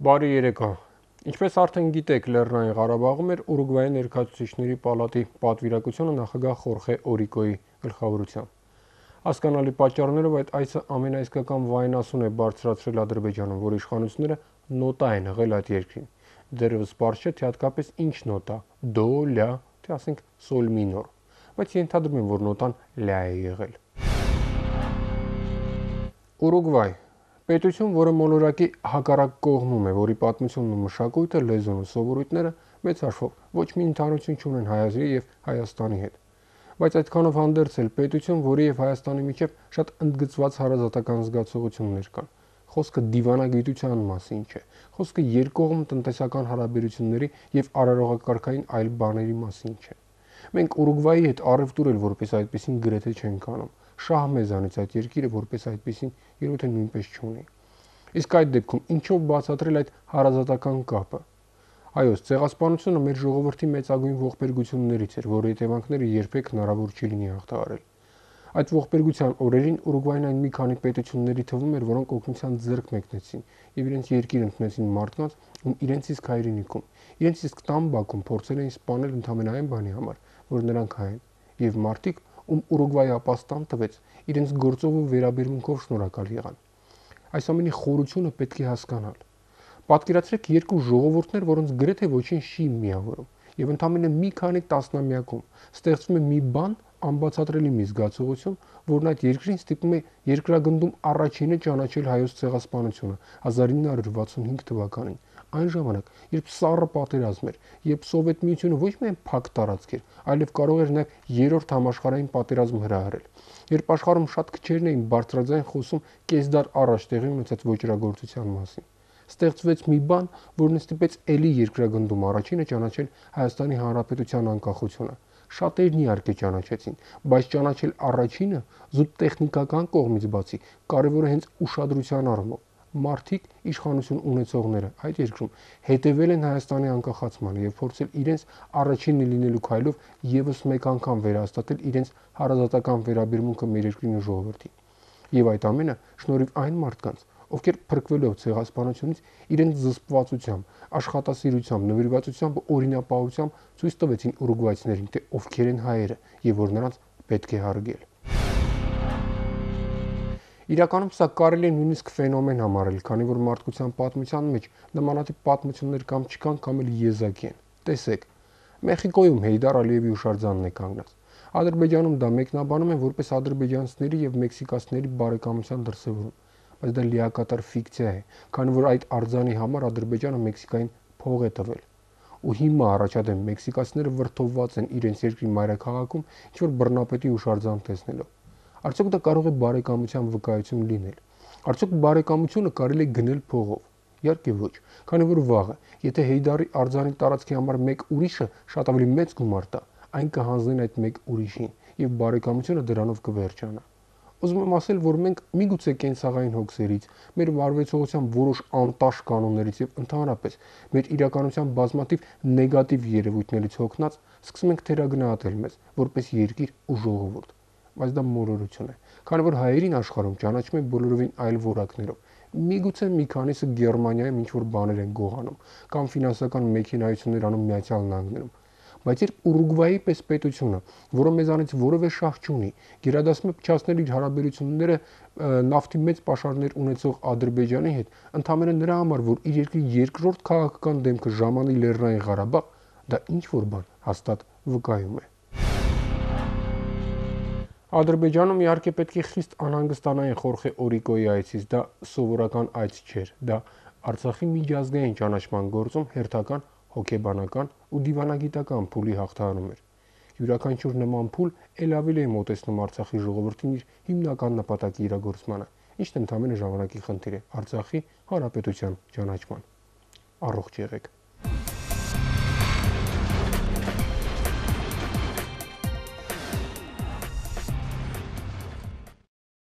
Բարի երեկո։ Ինչպես արդեն գիտեք, Լեռնային Ղարաբաղում էր Ուրուգվայի ներկայացուցիչների պալատի պատվիրակությունը նախագահ Խորխե Օրիկոյի գլխավորությամբ։ Հասկանալի պատճառներով այդ այցը ամենաիսկական վայնասուն է բարձրացրել Ադրբեջանում, որ իշխանությունները նոտա են հղել այդ երկրին։ Դեռևս պարզ չէ, թե հատկապես ինչ նոտա՝ դո, լա, թե ասենք սոլ մինոր, բայց ենթադրում եմ, որ նոտան լա է եղել։ Ուրուգվայ պետություն, որը մոլորակի հակառակ կողմում է, որի պատմությունն ու մշակույթը, լեզուն ու սովորույթները մեծ հաշվով ոչ մի ընդհանրություն չունեն Հայաստանի եւ Հայաստանի հետ։ Բայց այդքանով հանդերձ էլ պետություն, որի եւ Հայաստանի միջև շատ ընդգծված հարազատական զգացողություններ կան։ Խոսքը դիվանագիտության մասին չէ։ Խոսքը երկկողմ տնտեսական հարաբերությունների եւ արարողակարգային այլ բաների մասին չէ։ Մենք Ուրուգվայի հետ առևտուր էլ որպես այդպեսին գրեթե չենք անում։ Շահ մեզանից այդ երկիրը որպես այդպեսին երբեք նույնպես չունի։ Իսկ այդ դեպքում ինչով բացատրել այդ հարազատական կապը։ Այո, ցեղասպանությունը մեր ժողովրդի մեծագույն ողբերգություններից էր, որի հետևանքները երբեք հնարավոր չի լինի հաղթահարել։ Այդ ողբերգության օրերին Ուրուգվային այն մի քանի պետությունների թվում էր, որոնք օգնության ձեռք մեկնեցին եւ իրենց երկիր ընդունեցին մարդկանց, ում իրենց իսկ հայրենիքում, իրենց իսկ տան բակում փորձել էին սպանել ընդամենը այն բանի համար, որ նրանք հայ են, եւ մարդիկ, ում Ուրուգվայի ապաստան տվեց, իրենց գործով ու վերաբերմունքով շնորհակալ եղան։ Այս ամենի խորությունը պետք է հասկանալ։ Պատկերացրեք երկու ժողովուրդներ, որոնց գրեթե ոչինչ չի միավորում, եւ ընդամենը մի քանի տասնամյակում ստեղծվում է մի բան, անբացատրելի մի զգացողություն, որն այդ երկրին ստիպում է երկրագնդում առաջինը ճանաչել հայոց ցեղասպանությունը 1965 թվականին, այն ժամանակ, երբ սառը պատերազմ էր, երբ Սովետ միությունը ոչ միայն փակ տարածք էր, այլև կարող էր նաև երրորդ համաշխարհային պատերազմ հրահրել, երբ աշխարհում շատ քչերն էին բարձրաձայն խոսում կեսդար առաջ տեղի ունեցած ոճրագործության մասին։ Ստեղծվեց մի բան, որն ստիպեց էլի երկրագնդում առաջինը ճանաչել Հայաստանի Հանրապետության անկախությունը։ Շատերն իհարկե ճանաչեցին, բայց ճանաչել առաջինը զուտ տեխնիկական կողմից բացի կարևոր է հենց ուշադրության առումով։ Մարդիկ, իշխանություն ունեցողները այդ երկրում հետևել են Հայաստանի անկախացմանը եւ փորձել իրենց առաջինը լինելու քայլով եւս մեկ անգամ վերահաստատել իրենց հարազատական վերաբերմունքը մեր երկրին ու ժողովրդին։ Եվ այդ ամենը շնորհիվ այն մարդկանց, ովքեր փրկվելով ցեղասպանությունից իրենց զսպվածությամբ, աշխատասիրությամբ, նվիրվածությամբ ու օրինապահությամբ ցույց տվեցին ուրուգվայցիներին, թե ովքեր են հայերը եւ որ նրանց պետք է հարգել։ Իրականում սա կարելի է նույնիսկ ֆենոմեն համարել, քանի որ մարդկության պատմության մեջ նմանատիպ պատմություններ կամ չկան, կամ էլ եզակի են։ Տեսեք, Մեխիկոյում Հեյդար Ալիևի հուշարձանն է կանգնած։ Ադրբեջանում դա մեկնաբանում են որպես ադրբեջանցիների եւ մեքսիկացիների բարեկամության դրսեւորում, բայց դա լիակատար ֆիկցիա է, քանի որ այդ արձանի համար Ադրբեջանը Մեքսիկային փող է տվել։ Ու հիմա առաջադեմ մեքսիկացիները վրդովված են իրենց երկրի մայրաքաղաքում ինչ-որ բռնապետի հուշարձան տեսնելով։ Արդյոք դա կարող է բարեկամության վկայություն լինել։ Արդյոք բարեկամությունը կարելի է գնել փողով։ Իհարկե ոչ, քանի որ վաղը, եթե Հեյդարի արձանի տարածքի համար մեկ ուրիշը շատ ավելի մեծ գումար տա, այն կհանձնեն այդ մեկ ուրիշին, եւ բարեկամությունը դրանով կվերջանա։ Ուզում եմ ասել, որ մենք միգուցե կենցաղային հոգսերից, մեր վարվեցողության որոշ անտաշ կանոններից եւ ընդհանրապես մեր իրականության բազմաթիվ նեգատիվ երևույթներից հոգնած սկսում ենք թերագնահատել մեզ որպես երկիր ու ժողովուրդ։ Բայց դա մոլորություն է, քանի որ հայերին աշխարհում ճանաչում են բոլորովին այլ որակներով։ Միգուցե մի քանիսը Գերմանիայում ինչ-որ բաներ են գողանում կամ ֆինանսական մեքենայություններ անում Միացյալ Նահանգներում։ Բայց երբ Ուրուգվայի պես պետությունը, որը մեզանից որևէ շահ չունի, գերադասում է փչացնել իր հարաբերությունները նավթի մեծ պաշարներ ունեցող Ադրբեջանի հետ, ընդհանրապես նրա համար, որ իր երկրի երկրորդ քաղաքական դեմքը ժամանի Լեռնային Ղարաբաղ, դա ինչ-որ բան հաստատ վկայում է։ Ադրբեջանում իհարկե պետք է խիստ անհանգստանային Խորխե Օրիկոյի այցից, դա սովորական այց չէր, դա Արցախի միջազգային ճանաչման գործում հերթական հոգեբանական ու դիվանագիտական փուլի հաղթահարում էր։ Յուրաքանչյուր նման փուլ ել ավելի է մոտեցնում Արցախի ժողովրդին իր հիմնական նպատակի իրագործմանը, ինչն ընդհանրապես ժամանակի խնդիր է Արցախի հանրապետության ճանաչման։ Առողջ եղեք։